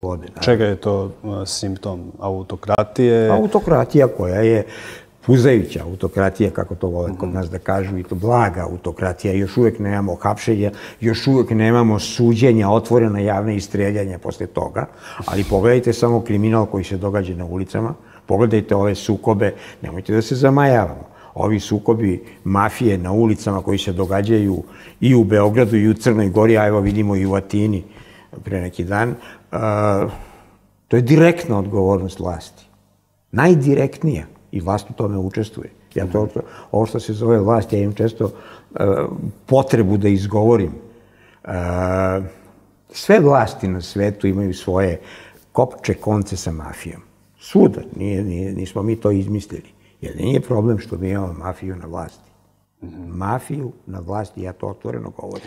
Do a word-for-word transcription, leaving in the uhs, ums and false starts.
vode. Čega je to simptom? Autokratije? Autokratija koja je puzajuća autokratija, kako to vole kod nas da kažu, i to blaga autokratija. Još uvijek nemamo hapšenja, još uvijek nemamo suđenja, otvorena javne i streljanja posle toga, ali pogledajte samo kriminal koji se događa na ulicama, pogledajte ove sukobe, nemojte da se zamajavamo. Ovi sukobi mafije na ulicama koji se događaju i u Beogradu i u Crnoj Gori, a evo vidimo i u Atini pre neki dan, to je direktna odgovornost vlasti. Najdirektnija. I vlast u tome učestvuje. Ja to, ovo što se zove vlast, ja imam često potrebu da izgovorim. Sve vlasti na svetu imaju svoje kopče konce sa mafijom. Svuda, nismo mi to izmislili. Jer nije problem što mi imamo mafiju na vlasti. Mafiju na vlasti, ja to otvoreno govorim.